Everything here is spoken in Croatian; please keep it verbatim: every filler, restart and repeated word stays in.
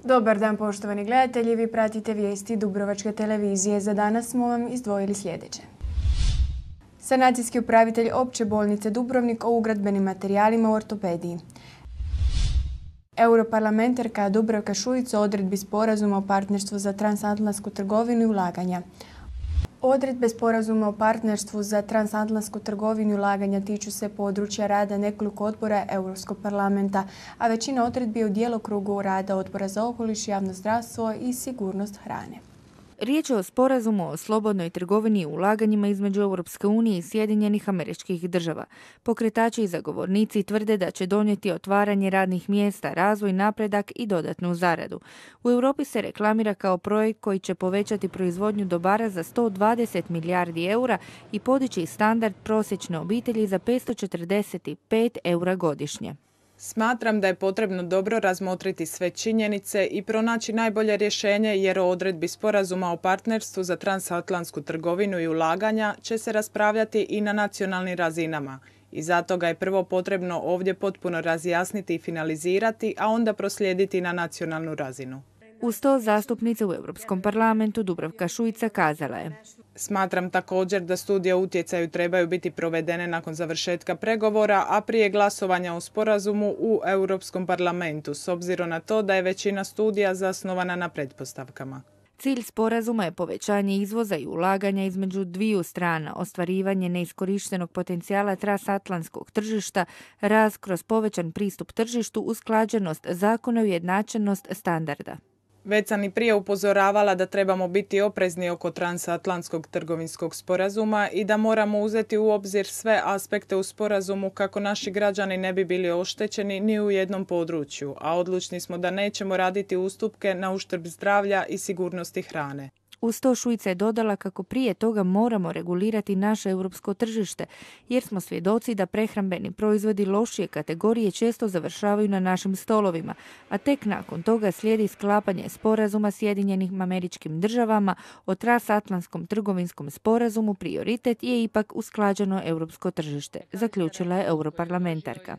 Dobar dan, poštovani gledatelji, vi pratite vijesti Dubrovačke televizije. Za danas smo vam izdvojili sljedeće. Sanacijski upravitelj Opće bolnice Dubrovnik o ugradbenim materijalima u ortopediji. Europarlamentarka Dubravka Šuica o odredbi sporazuma o partnerstvu za transatlantsku trgovinu i ulaganja. Odredbe sporazuma o partnerstvu za transatlantsku trgovinu i ulaganja tiču se područja rada nekoliko odbora Europskog parlamenta, a većina odredbi je u djelokrugu rada Odbora za okoliš, javno zdravstvo i sigurnost hrane. Riječ je o sporazumu o slobodnoj trgovini i ulaganjima između Europske unije i Sjedinjenih Američkih Država. Pokretači i zagovornici tvrde da će donijeti otvaranje radnih mjesta, razvoj, napredak i dodatnu zaradu. U Europi se reklamira kao projekt koji će povećati proizvodnju dobara za sto dvadeset milijardi eura i podići standard prosječne obitelji za petsto četrdeset pet eura godišnje. Smatram da je potrebno dobro razmotriti sve činjenice i pronaći najbolje rješenje jer o odredbi sporazuma o partnerstvu za transatlantsku trgovinu i ulaganja će se raspravljati i na nacionalnim razinama. I zato ga je prvo potrebno ovdje potpuno razjasniti i finalizirati, a onda proslijediti na nacionalnu razinu. Uz to zastupnica u Europskom parlamentu Dubravka Šuica kazala je: Smatram također da studije o utjecaju trebaju biti provedene nakon završetka pregovora, a prije glasovanja o sporazumu u Europskom parlamentu, s obzirom na to da je većina studija zasnovana na pretpostavkama. Cilj sporazuma je povećanje izvoza i ulaganja između dviju strana, ostvarivanje neiskorištenog potencijala transatlantskog tržišta, rast kroz povećan pristup tržištu, usklađenost zakona i ujednačenost standarda. Već sam i prije upozoravala da trebamo biti oprezni oko transatlantskog trgovinskog sporazuma i da moramo uzeti u obzir sve aspekte u sporazumu kako naši građani ne bi bili oštećeni ni u jednom području, a odlučni smo da nećemo raditi ustupke na uštrb zdravlja i sigurnosti hrane. Uz to Šuica je dodala kako prije toga moramo regulirati naše europsko tržište, jer smo svjedoci da prehrambeni proizvodi lošije kategorije često završavaju na našim stolovima, a tek nakon toga slijedi sklapanje sporazuma Sjedinjenim Američkim Državama o transatlantskom trgovinskom sporazumu. Prioritet je ipak usklađeno europsko tržište, zaključila je europarlamentarka.